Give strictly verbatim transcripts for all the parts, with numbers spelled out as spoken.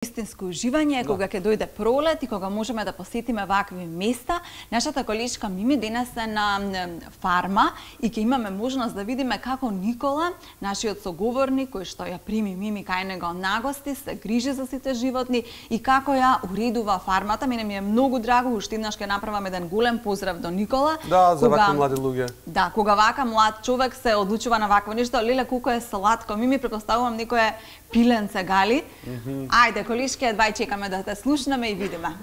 Истинско уживање кога ќе дојде пролет и кога можеме да посетиме вакви места. Нашата колешка Мими денес е на фарма и ќе имаме можност да видиме како Никола, нашиот соговорник кој што ја прими Мими кај него нагости, се грижи за сите животни и како ја уредува фармата. Мене ми е многу драго, уште еднаш ќе направам еден голем поздрав до Никола. Да, за вакви млади луѓе. Да, кога вака млад човек се одлучува на вакво нешто, леле колку е сладко. Мими, претпоставувам некое пиленце гали. Ајде, колешки, едвај чекаме да те слушнеме и видиме.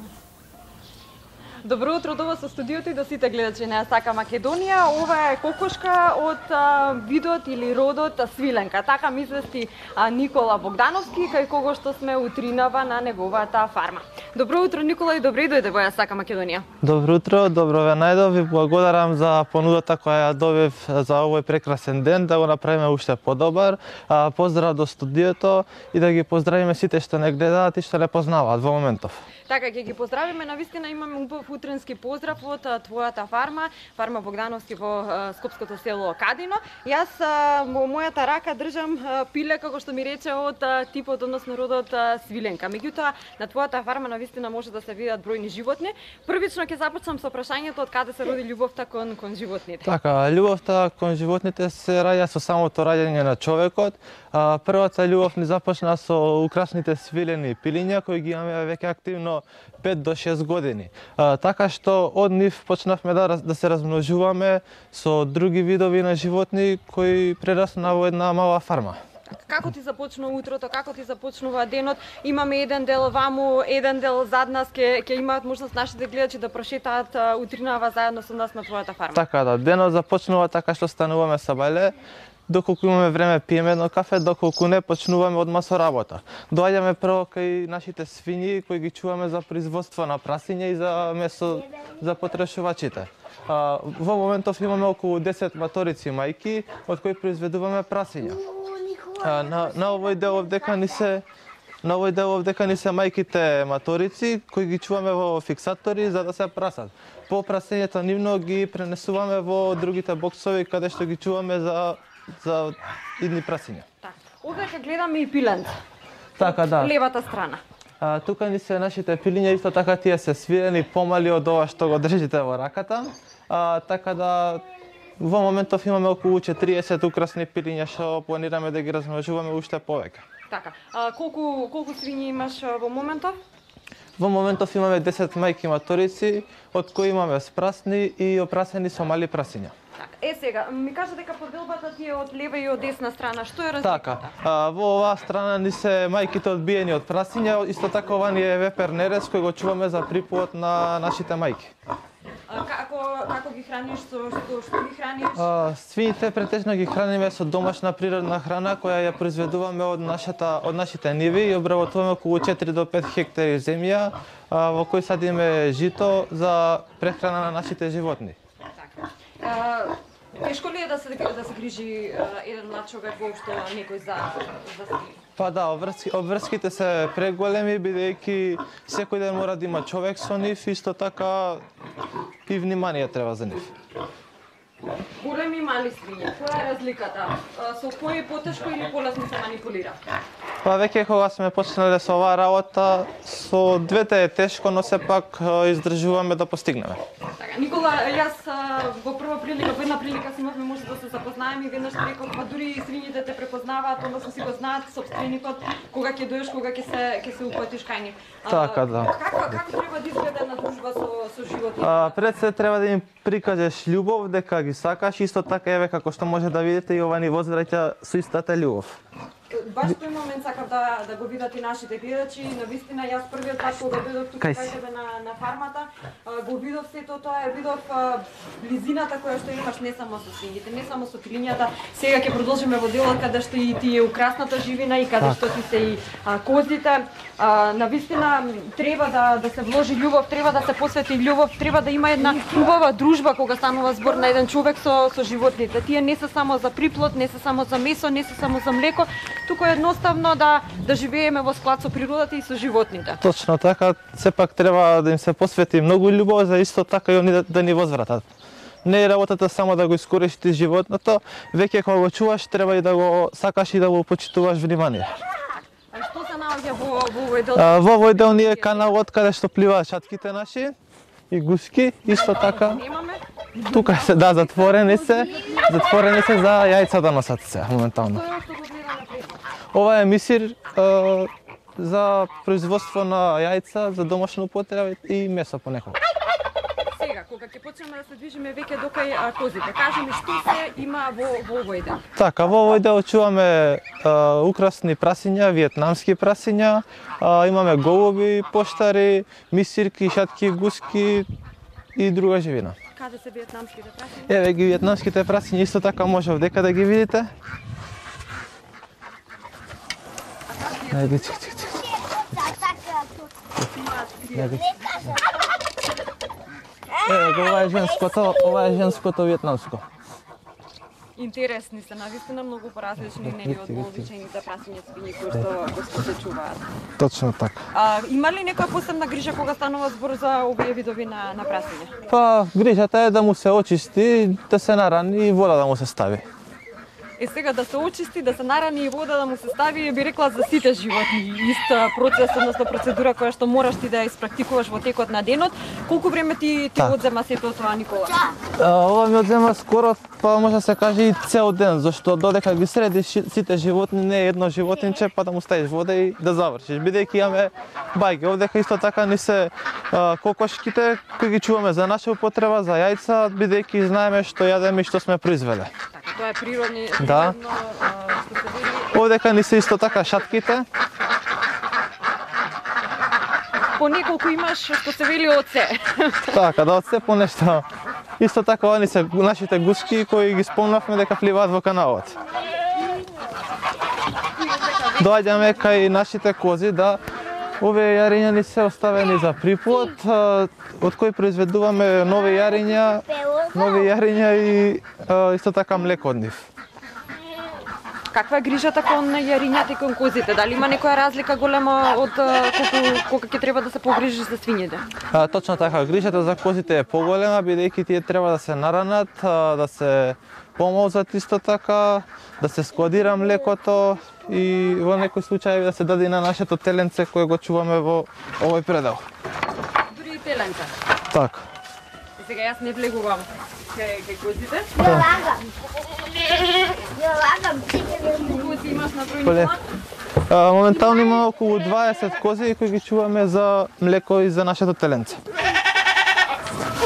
Добро утро до вас со студиото и до сите гледачи на Сака Македонија. Ова е кокошка од а, видот или родот свиленка. Така ми извести а, Никола Богдановски, кај кого што сме утринава на неговата фарма. Добро утро, Никола, и добре дојде во Сака Македонија. Добро утро, добро ве најдов и благодарам за понудата која ја добив за овој прекрасен ден, да го направиме уште подобар. А, поздрав до студиото и да ги поздравиме сите што не гледаат и што не познаваат во моментов. Така, ќе ги поздравиме, навистина имаме убав утренски поздрав од а, твојата фарма, фарма Богдановски во а, скопското село Кадино. Јас а, во мојата рака држам а, пиле, како што ми рече, од а, типот, односно родот а, свиленка. Меѓутоа, на твојата фарма навистина може да се видат бројни животни. Првично ќе започнам со прашањето од каде се роди љубовта кон кон животните. Така, љубовта кон животните се раѓа со самото раѓање на човекот. А, првата љубов ни започна со украсните свилени пилиња кои ги имаме веќе активно пет до шест години. А, така што од нив почнавме да, да се размножуваме со други видови на животни кои прерасна во една мала фарма. Како ти започна утрото, како ти започнува денот? Имаме еден дел ваму, еден дел зад нас, ке, ке имаат можност нашите гледачи да прошетаат утринава заедно со нас на твојата фарма. Така да, денот започнува така што стануваме со бајле, доколку имаме време пиеме едно кафе, доколку не почнуваме одма со работа. Доаѓаме прво кај нашите свињи кои ги чуваме за производство на прасиња и за месо за потрошувачите. А, во моментов имаме околу десет маторици мајки од кои произведуваме прасиња. А, на, на овој дел овдека ни се На овој дел овдека ни се мајките маторици кои ги чуваме во фиксатори за да се прасат. По прасењето нивно ги пренесуваме во другите боксови каде што ги чуваме за за идни прасиња. Така. Овдека гледаме и пиленце. Така да. Левата страна. А, тука ни се нашите пилиња, исто така тие се свирени, помали од ова што го држите во раката. А, така да во моментов имаме околу четириесет украсни пилиња што планираме да ги размножуваме уште повеќе. Така. А, колку колку свињи имаш во моментов? Во моментов имаме десет мајки маторици, од кои имаме спрасни и опрасени со мали прасиња. Така. Е сега, ми кажа дека поделбата ти е од лева и од десна страна. Што е разликата? Така. А, во оваа страна ни се мајките одбиени од прасиња, исто така ова ни е вепер нерез кој го чуваме за припојот на нашите мајки. А, како како ги храниш, со што што ги храниш? А, свините претежно ги храниме со домашна природна храна која ја произведуваме од нашата од нашите ниви и обработуваме околу четири до пет хектари земја а, во кој садиме жито за прехрана на нашите животни. Така. А, тешко ли е да се да се грижи а, еден млад човек воопшто некој за за свињи? Па да, обврски, обврските се преголеми бидејќи секој ден мора да има човек со нив, исто така и внимание треба за нив. Големи и мали свиња, која е разликата? Со кој е потешко или полесно се манипулира? Па веќе кога сме почнале со оваа работа, со двете е тешко, но сепак издржуваме да постигнеме. Така, Никола, јас во прва прилика, во една прилика си имавме може да се запознаеме и веднаш реков, па дури и свињите те препознаваат, односно си го знаат сопственикот, кога ќе дојдеш, кога ќе се ќе се упатиш кај нив. Така да. Како како треба да изгледа една дружба со со животните? А, пред се треба да им прикажеш љубов, дека ги сакаш, исто така еве како што може да видите и ова ни возвраќа со истата љубов. Баш тој момент сакав да да го видат и нашите гледачи. Навистина јас првиот пат кога дојдов тука кај тебе на на фармата, го видов сето тоа, видов близината која што имаш не само со свињите, не само со пилињата. Сега ќе продолжиме во делот каде што и ти е украсната живина и каде што ти се и а, козите. А, навистина треба да да се вложи љубов, треба да се посвети љубов, треба да има една убава дружба кога станува збор на еден човек со со животните. Тие не се само за приплод, не се само за месо, не се само за млеко, туку е едноставно да да живееме во склад со природата и со животните. Точно така, сепак треба да им се посвети многу љубов за исто така и они да, да ни возвратат. Не е работата само да го искористиш животното, веќе кога го чуваш треба и да го сакаш и да го почитуваш внимание. А што се наоѓа наоѓа во во овој дел? А, во овој дел ние каналот каде што пливаат шатките наши и гуски, исто така. Немаме. Тука се, да, затворени се, затворени се за јајца да носат се моментално. Тоа што го гледаме пред. Ова е мисир а, за производство на јајца, за домашна употреба и месо понекогаш. Сега, кога ќе почнеме да се движиме веќе до кај а, козите, кажи ми што се има во во овој дел? Така, во овој дел чуваме а, украсни прасиња, виетнамски прасиња, а, имаме голуби, поштари, мисирки, шатки, гуски и друга живина. Каде се виетнамските прасиња? Еве ги виетнамските прасиња, исто така може овдека да ги видите. Ајде, чик, чик, чик. Еве го, ова е женското, ова е женското виетнамско. Интересни се, навистина многу поразлични нели од вообичаените прасиња свињи кои што кои што се чуваат. Точно така. А има ли некоја посебна грижа кога станува збор за овие видови на на прасиња? Па, грижата е да му се очисти, да се нарани и вода да му се стави. Е сега да се очисти, да се нарани и вода да му се стави, би рекла за сите животни. Ист процес, односно процедура која што мораш ти да ја испрактикуваш во текот на денот. Колку време ти ти Так. одзема сето тоа, Никола? А, ова ми одзема скоро, па може да се каже и цел ден, зашто додека ги средиш сите животни, не е едно животинче, па да му ставиш вода и да завршиш. Бидејќи имаме бајги, овдека исто така ни се а, кокошките кои ги чуваме за наша употреба, за јајца, бидејќи знаеме што јадеме и што сме произвеле. Така, тоа е природни, Да. природно, а, што се вели. Овдека ни се исто така шатките. По неколку имаш што се вели од се. Така, да од се по нешто. Исто така они се нашите гуски кои ги спомнавме дека пливаат во каналот. Доаѓаме кај нашите кози, да, овие јариња ни се оставени за приплод, а, од кои произведуваме нови јариња, нови јариња и а, исто така млеко од нив. Каква е грижата кон јарињата и кон козите? Дали има некоја разлика голема од а, колку кога ќе треба да се погрижиш за свињите? А, точно така, грижата за козите е поголема, бидејќи тие треба да се наранат, а, да се помолзат исто така, да се складира млекото и во некои случаи да се даде и на нашето теленце кое го чуваме во овој предел. Дури и теленца. Така. Сега јас не влегувам кај кај козите. Ја лагам. Ја лагам. Кози имаш на број Поле. Никола? А, моментално има околу дваесет кози кои ги чуваме за млеко и за нашето теленце.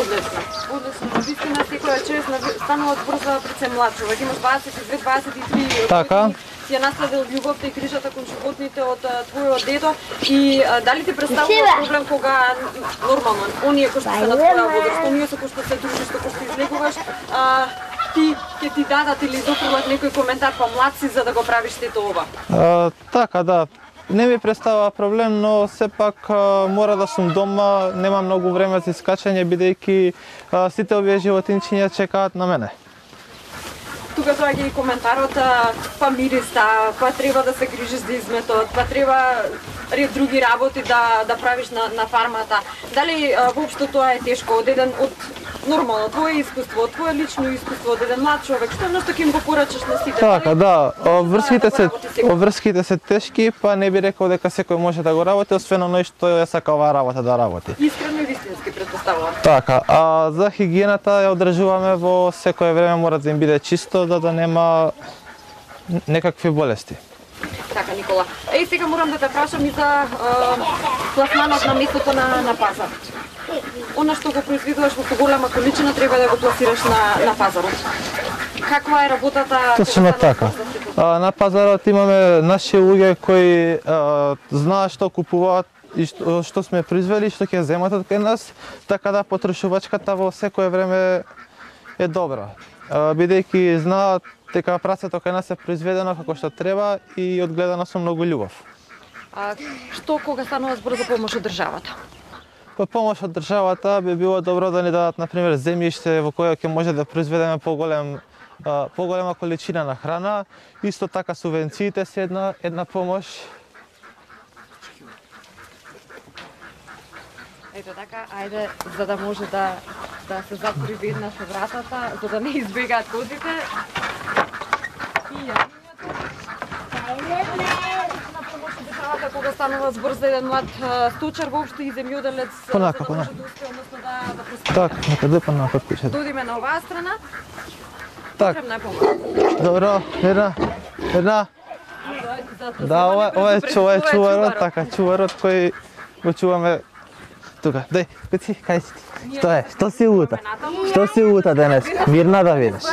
Одлично. Одлично. Навистина секоја чест станува збор за пред се млад човек. Имаш дваесет и две дваесет и три Така. години. Си ја наследил љубовта и грижата кон животните од а, твојот дедо и а, дали ти представува проблем кога нормално оние кои што се на твоја возраст, оние со кои што се дружиш, со кои што излегуваш, а, ти ќе ти дадат или доприлат некој коментар, па млад си за да го правиш сето ова? А, така, да. Не ми представува проблем, но сепак а, мора да сум дома, нема многу време за искачање, бидејќи а, сите овие животинчиња чекаат на мене. Тука доаѓа и коментарот, а, па мириста, па треба да се грижиш за изметот, па треба ред други работи да да правиш на на фармата. Дали а, воопшто тоа е тешко од еден од нормално твое искуство, од твое лично искуство од еден млад човек, што нешто ќе им го порачаш на сите? Така, Дали да, обврските да се го работи секој? обврските се тешки, па не би рекол дека секој може да го работи, освен оној што ја сака оваа работа да работи. Искрено и вистински претпоставувам. Така, а за хигиената ја одржуваме во секое време, мора да им биде чисто, да да нема некакви болести. Така, Никола. Еј, сега морам да те прашам и за а, пласманот на месото на на пазар. Она што го произведуваш во поголема количина треба да го пласираш на на пазарот. Каква е работата? Точно кога станува така. збор за сето тоа? А, на пазарот имаме наши луѓе кои а, знаат што купуваат и што, што сме произвели, што ќе земат од кај нас, така да потрошувачката во секое време е добра. А, бидејќи знаат дека прасето кај нас е произведено како што треба и одгледано со многу љубов. А, што кога станува збор за помош од државата? По помош од државата би било добро да ни дадат на пример земјиште во кое ќе може да произведеме поголем а, поголема количина на храна. Исто така субвенциите се една една помош. Ето така, ајде, за да може да да се затвори веднаш вратата, за да не избегаат козите. И јанињето. На помош од државата кога станува збор за еден млад а, сточар воопшто и земјоделец, Понака, за да може понака. да успее, односно да да проспира. Так, нека депа на код куќата. Додиме на оваа страна. Так, Потребна е помага. добро, една, една. Да, ова, ова е, ова е чуварот, така, чуварот кој го чуваме тука. Дај, кој си, кај си ти? Што е? Што си лута? Што си лута денес? Мирна да видиш.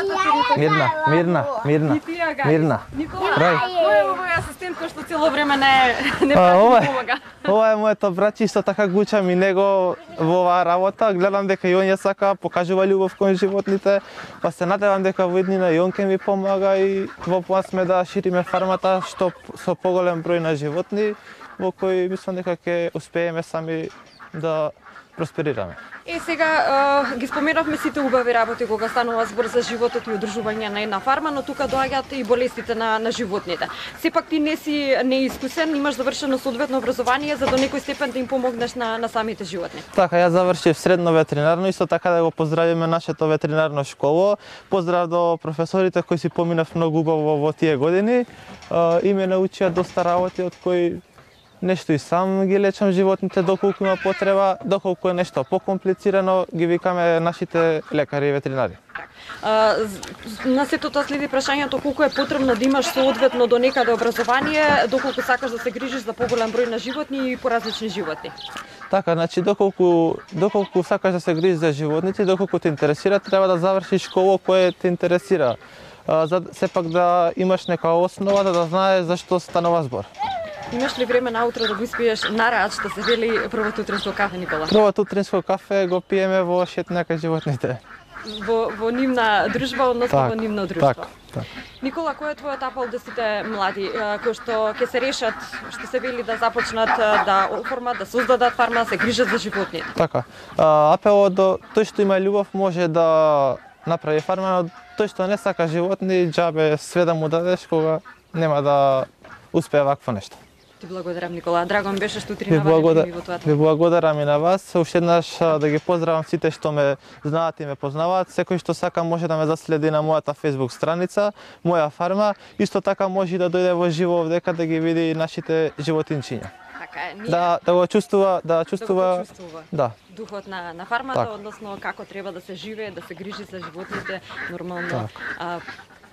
Мирна, мирна, мирна, мирна. Никола, Рај. кој е овој асистент кој што цело време не не А, прати ова да е, помага? ова е моето браќе, исто така го учам и него во оваа работа. Гледам дека и он ја сака, покажува љубов кон животните, па се надевам дека во иднина и он ќе ми помага и во план сме да шириме фармата што со поголем број на животни, во кој мислам дека ќе успееме сами да просперираме. Е, сега а, ги споменавме сите убави работи кога станува збор за животот и одржување на една фарма, но тука доаѓаат и болестите на, на животните. Сепак ти не си неискусен, имаш завршено соодветно образование за до некој степен да им помогнеш на, на самите животни. Така, јас завршив средно ветеринарно, исто така да го поздравиме нашето ветеринарно школо. Поздрав до професорите кои си поминав многу убаво во тие години а, и ме научија доста работи од кои нешто и сам ги лечам животните доколку има потреба, доколку е нешто покомплицирано, ги викаме нашите лекари и ветеринари. А, на сето тоа следи прашањето колку е потребно да имаш соодветно до некаде образование, доколку сакаш да се грижиш за поголем број на животни и поразлични животни. Така, значи доколку доколку сакаш да се грижиш за животните, доколку те интересира, треба да завршиш школа која те интересира. А, за сепак да имаш нека основа да, да знаеш зашто станува збор. Имаш ли време наутро да го испиеш нараат што се вели првото утринско кафе, Никола? Првото утринско кафе го пиеме во шетна кај животните. Во, во нивна дружба, односно Так, во нивно друштво. так, так. Никола, кој е твојот апел да сите млади а, кои што ќе се решат, што се вели да започнат а, да оформат, да создадат фарма, да се грижат за животните? Така. А, апелот до тој што има љубов може да направи фарма, но тој што не сака животни, џабе све да му дадеш кога нема да успее вакво нешто. Ти благодарам, Никола. Драго ми беше што Ви, утринава благодар... ви во тоа. ви благодарам и на вас. Уште еднаш а, да ги поздравам сите што ме знаат и ме познаваат. Секој што сака може да ме заследи на мојата Facebook страница, моја фарма. Исто така може и да дојде во живо овдека да ги види нашите животинчиња. Така е, ние Да, да го чувствува, да да чувствува, го почувствува. да. Духот на, на фармата, Так. односно како треба да се живее, да се грижи за животните, нормално Так. а,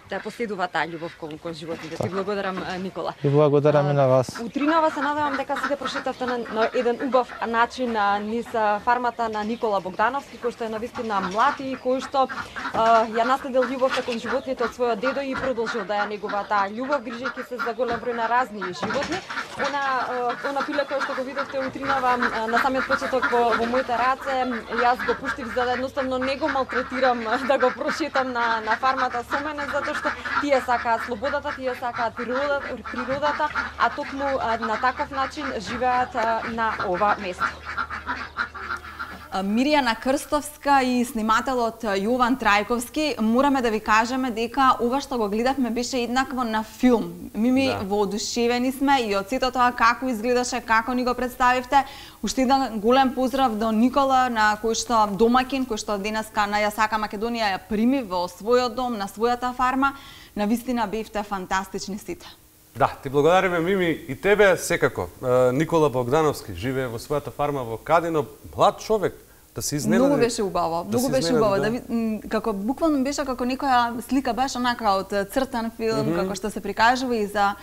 да поседува таа љубов кон, кон животните. Ти благодарам, а, Никола. И благодарам и на вас. Утринава се надевам дека сите прошетавте на, на еден убав начин а, низ а, фармата на Никола Богдановски, кој што е навистина млад и кој што а, ја наследил љубовта кон животните од својот дедо и продолжил да ја негува таа љубов, грижејќи се за голем број на разни животни. Она, а, она пиле кој што го видовте утринава а, на самиот почеток во, во моите раце, јас го пуштив за да едноставно не го малтретирам а, да го прошетам на, на фармата со мене, затоа што тие сакаат слободата, тие сакаат природата, природата, а токму а, на таков начин живеат а, на ова место. Мирјана Крстовска и снимателот Јован Трајковски, мораме да ви кажеме дека ова што го гледавме беше еднакво на филм. Ми ми Да. воодушевени сме и од сето тоа како изгледаше, како ни го представивте. Уште еден голем поздрав до Никола, на кој што домакин, кој што денеска на Јасака Македонија ја прими во својот дом, на својата фарма. Навистина бевте фантастични сите. Да, ти благодариме, Мими, и тебе секако. Е, Никола Богдановски живее во својата фарма во Кадино, млад човек, да се изненади. Многу беше убаво, да многу се беше изненади, убаво. да. Да, ви- м, како буквално беше како некоја слика беше онака од цртан филм, mm -hmm. како што се прикажува и за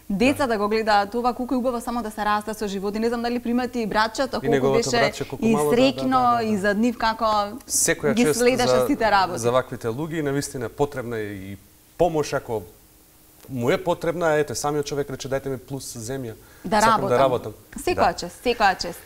деца да, да го гледаат това, колку е убаво само да се расте со животи. Не знам дали примати и братчето, колку неговото беше братче, колку и мало, да, среќно да, да, да. и за нив како Секоја ги чест следеше за, сите работи. за ваквите луѓе и навистина потребна е и помош ако му е потребна, ете, самиот човек рече дајте ми плюс земја. Да Сакам работам. да работам. Секоја чест, секоја чест.